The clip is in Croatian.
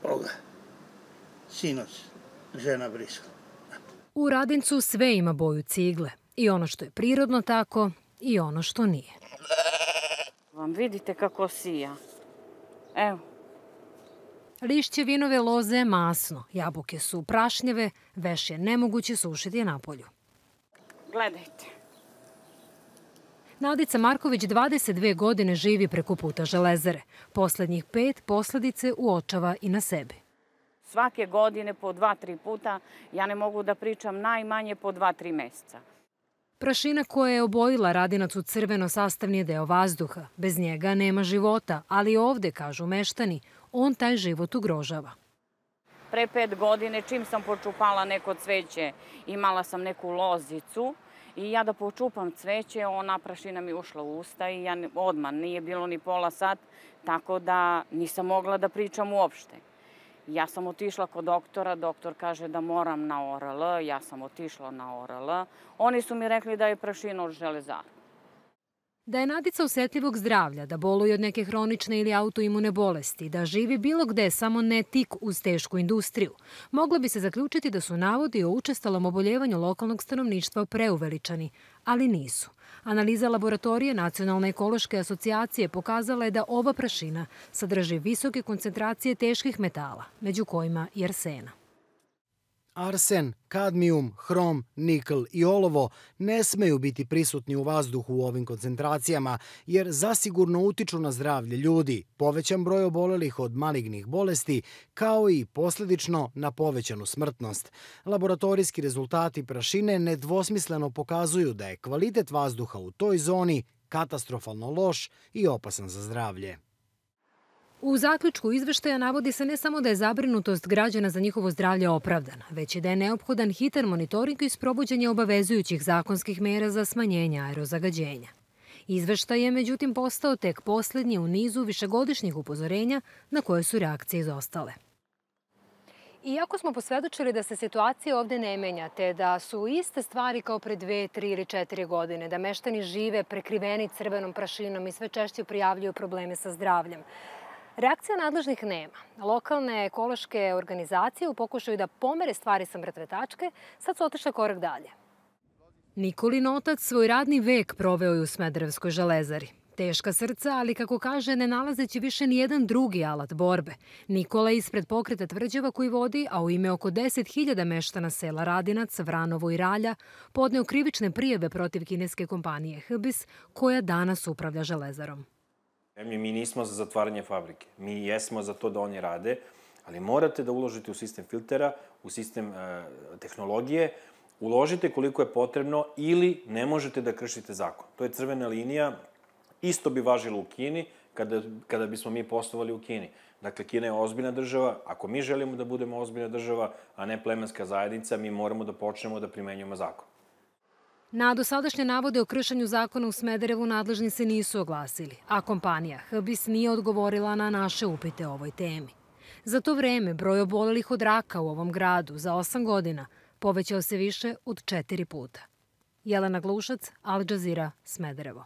Koga? Sinoć, žena brišla. U Radincu sve ima boju cigle. I ono što je prirodno tako, i ono što nije. Vam vidite kako sija. Evo. Lišće vinove loze je masno, jabuke su prašnjeve, veš je nemoguće sušiti na polju. Gledajte. Nadica Marković 22 godine živi preko puta železare. Poslednjih 5 posledice uočava i na sebi. Svake godine po 2-3 puta, ja ne mogu da pričam najmanje po 2-3 meseca. Prašina koja je obojila Radinac u crveno sastavni je deo vazduha. Bez njega nema života, ali ovde, kažu meštani, on taj život ugrožava. Pre 5 godine, čim sam počupala neko cveće, imala sam neku lozicu i ja da počupam cveće, ona prašina mi ušla u usta i ja odmah, nije bilo ni pola sat, tako da nisam mogla da pričam uopšte. Ja sam otišla kod doktora, doktor kaže da moram na ORL, ja sam otišla na ORL. Oni su mi rekli da je prašina od železara. Da je Nadica osetljivog zdravlja, da boluje od neke hronične ili autoimune bolesti, da živi bilo gde, samo ne tik uz tešku industriju, moglo bi se zaključiti da su navodi o učestalom oboljevanju lokalnog stanovništva preuveličani, ali nisu. Analiza laboratorije Nacionalne ekološke asocijacije pokazala je da ova prašina sadrži visoke koncentracije teških metala, među kojima i arsena. Arsen, kadmijum, hrom, nikl i olovo ne smeju biti prisutni u vazduhu u ovim koncentracijama jer zasigurno utiču na zdravlje ljudi, povećan broj obolelih od malignih bolesti, kao i posledično na povećanu smrtnost. Laboratorijski rezultati prašine nedvosmisleno pokazuju da je kvalitet vazduha u toj zoni katastrofalno loš i opasan za zdravlje. U zaključku izveštaja navodi se ne samo da je zabrinutost građana za njihovo zdravlje opravdana, već i da je neophodan hitan monitoring i sprovođenje obavezujućih zakonskih mera za smanjenje aerozagađenja. Izveštaj je međutim postao tek poslednji u nizu višegodišnjih upozorenja na koje su reakcije izostale. Iako smo posvedočili da se situacija ovde ne menja, te da su iste stvari kao pre 2, 3 ili 4 godine, da meštani žive prekriveni crvenom prašinom i sve češće prijavljuju probleme sa zdravljem, reakcija nadležnih nema. Lokalne ekološke organizacije u pokušaju da pomere stvari sa mrtve tačke sad su otišle korak dalje. Nikolin otac svoj radni vek proveo je u Smederevskoj železari. Teška srca, ali kako kaže, ne nalazeći više nijedan drugi alat borbe. Nikola je ispred pokreta tvrđava koji vodi, a u ime oko 10.000 meštana sela Radinac, Vranovo i Ralja, podneo krivične prijave protiv kineske kompanije HBIS, koja danas upravlja železarom. Mi nismo za zatvaranje fabrike. Mi jesmo za to da oni rade, ali morate da uložite u sistem filtera, u sistem tehnologije, uložite koliko je potrebno ili ne možete da kršite zakon. To je crvena linija, isto bi važilo u Kini kada bismo mi poslovali u Kini. Dakle, Kina je ozbiljna država. Ako mi želimo da budemo ozbiljna država, a ne plemenska zajednica, mi moramo da počnemo da primenjujemo zakon. Na dosadašnje navode o kršenju zakona u Smederevu nadležni se nisu oglasili, a kompanija HBIS nije odgovorila na naše upite o ovoj temi. Za to vreme broj obolelih od raka u ovom gradu za 8 godina povećao se više od 4 puta. Jelena Glušac, Al Jazeera, Smederevo.